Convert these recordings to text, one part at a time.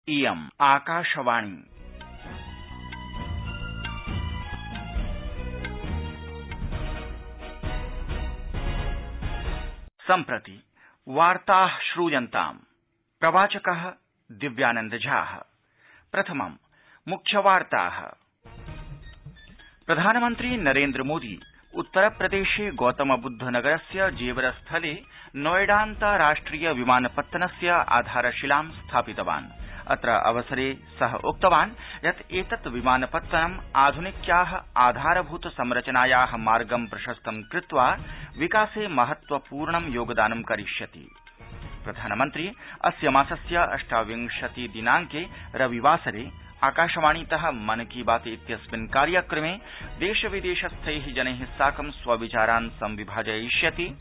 इयम् आकाशवाणी। सम्प्रति वार्ताः श्रूयन्ताम्। प्रवाचकः दिव्यानंद झा। प्रथमम् मुख्यवार्ताः। प्रधानमन्त्री नरेन्द्र मोदी उत्तरप्रदेशे गौतमबुद्धनगरस्य जेवर स्थले नोएडान्ताराष्ट्रिय विमानपत्तनस्य आधारशिलां स्थापितवान्। अत्र अवसरे सः उक्तवान् यत् एतत् विमानपत्तनम् आधुनिक्याः आधारभूत संरचनायाः मार्गं प्रशस्तं कृत्वा विकासे महत्वपूर्णं योगदानं करिष्यति। प्रधानमन्त्री अस्य मासस्य 28 दिनाङ्के रविवासरे आकाशवाणीतः मन की बात इत्यस्मिन् कार्यक्रमे देशविदेशस्थैः जनैः साकं स्वविचारान् संविभाजयिष्यति।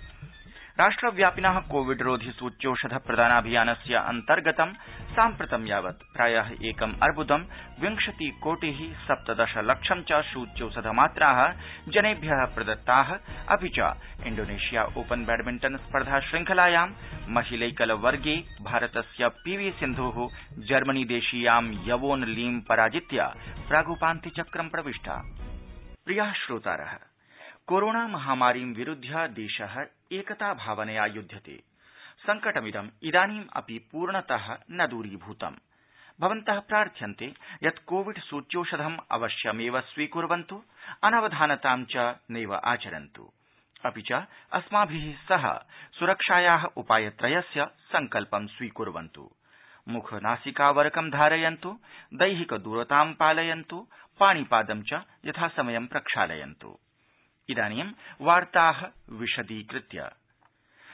राष्ट्रव्यापिनः कोविड रोधि सूच्यौषध प्रदानाभियानस्य अन्तर्गतं साम्प्रतं यावत् प्रायः 1,20 कोटिः 17 लक्षं च सूच्यौषधमात्राः जनेभ्यः प्रदत्ताः। अपि च इण्डोनेशिया ओपन बैडमिण्टन स्पर्धा श्रृंखलायां महिलैकलवर्गे भारतस्य पीवी सिन्धुः जर्मनी देशीयां यवोन लीं पराजित्य प्रागुपान्त्यचक्रं प्रविष्टा। प्रियाः श्रोतारः, कोरोना महामारीं विरुध्य देशः एकता भावनया युध्यते। संकटमिदम् इदानीम् अपि पूर्णतः न दूरीभूतम्। भवन्तः प्रार्थ्यन्ते यत् कोविड सूच्यौषधम् अवश्यमेव स्वीकुर्वन्तु, अनवधानतां च नैव आचरन्तु। अपि च अस्माभिः सह सुरक्षायाः उपायत्रयस्य सङ्कल्पं स्वीकुर्वन्तु। मुखनासिकावरकं धारयन्तु, दैहिकदूरतां पालयन्तु, पाणिपादं च यथासमयं प्रक्षालयन्तु। इदानीं वार्ताः विशदीकृत्य।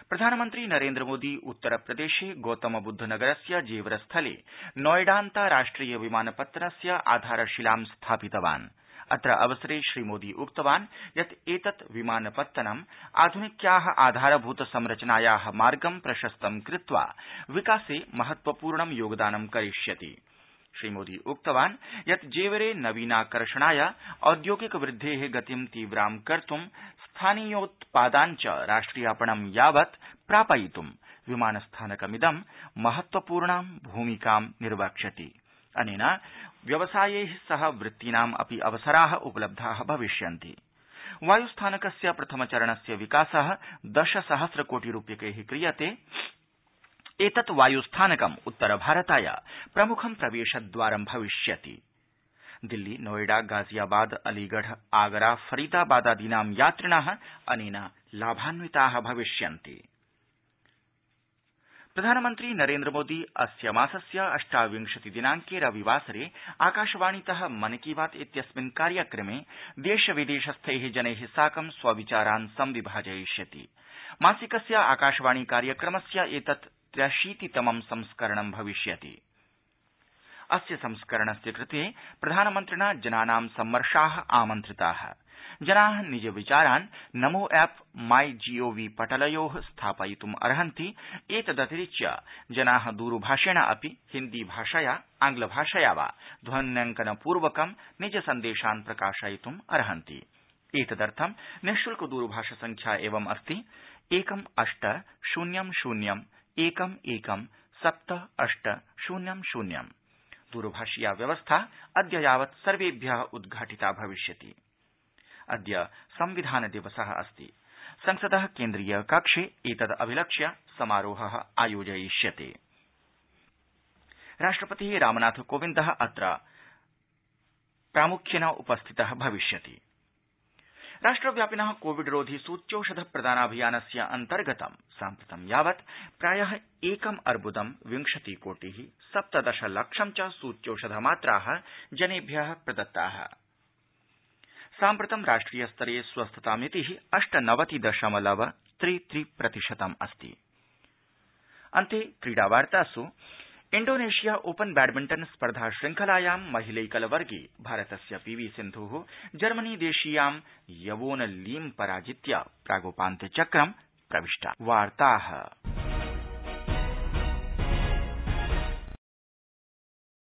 प्रधानमन्त्री नरेन्द्र मोदी उत्तरप्रदेशे गौतमबुद्धनगरस्य जेवर स्थले नोएडान्ताराष्ट्रिय विमानपत्तनस्य आधारशिलां स्थापितवान्। अत्र अवसरे श्रीमोदी उक्तवान् यत् एतत् विमानपत्तनम् आधुनिक्याः आधारभूत संरचनायाः मार्गं प्रशस्तं कृत्वा विकासे महत्वपूर्णं योगदानं करिष्यति। श्रीमोदी उक्तवान् यत् जेवरे नवीनाकर्षणाय औद्योगिक वृद्धेः गतिं तीव्रां कर्तुं स्थानीयोत्पादान् च राष्ट्रियापणं यावत् प्रापयितुं विमानस्थानकमिदं महत्वपूर्णां भूमिकां निर्वक्ष्यति। अनेन व्यवसायैः सह वृत्तीनाम् अपि अवसराः उपलब्धाः भविष्यन्ति। वायुस्थानकस्य प्रथमचरणस्य विकासः 10,000 कोटि रूप्यकैः क्रियते। एतत् वायुस्थानकम् उत्तरभारताय प्रमुखं प्रवेशद्वारं भविष्यति। दिल्ली, नोएडा, गाजियाबाद, अलीगढ़, आगरा, फरीदाबादादीनां यात्रिणः अनेन लाभान्विताः भविष्यन्ति। प्रधानमन्त्री नरेन्द्र मोदी अस्य मासस्य 28 दिनाङ्के रविवासरे आकाशवाणीतः मन की बात इत्यस्मिन् कार्यक्रमे देशविदेशस्थैः जनैः साकं स्वविचारान् संविभाजयिष्यति। मासिकस्य आकाशवाणी कार्यक्रमस्य एतत् 83तमं संस्करणं भविष्यति। अस्य संस्करणस्य कृते प्रधानमन्त्रिणा जनानां सम्मर्शाः आमन्त्रिताः। जनाः निज विचारान् नमो ऐप माई जीओवी पटलयोः स्थापयितुम् अर्हन्ति। एतदतिरिच्य जनाः दूरभाषेण अपि हिन्दी भाषया, आङ्ग्लभाषया वा ध्वन्यङ्कनपूर्वकं निज सन्देशान् प्रकाशयितुम् अर्हन्ति। एतदर्थं निःशुल्क दूरभाष संख्या एवम् अस्ति 1-800-11-7800। दूरभाषीया व्यवस्था अद्य यावत् सर्वेभ्यः उद्घाटिता भविष्यति। अद्य संविधान दिवसः अस्ति। संसदः केन्द्रीय कक्षे एतदभिलक्ष्य समारोहः आयोजयिष्यते। राष्ट्रपतिः रामनाथ कोविन्दः अत्र प्रामुख्येन उपस्थितः भविष्यति। राष्ट्रव्यापिनः कोविड रोधि सूच्यौषध प्रदानाभियानस्य अन्तर्गतं साम्प्रतं यावत् प्रायः 1,20 कोटिः 17 लक्षं च सूच्यौषधमात्राः जनेभ्यः प्रदत्ताः। साम्प्रतं राष्ट्रियस्तरे स्वस्थतामितिः 98.33% अस्ति। अन्ते क्रीडावार्तासु। इण्डोनेशिया ओपन बैडमिण्टन स्पर्धा श्रृंखलायां महिलैकलवर्गे भारतस्य पीवी सिन्धुः जर्मनी देशीयां यवोन लीं पराजित्य प्रागुपान्त्यचक्रं प्रविष्टा। वार्ताः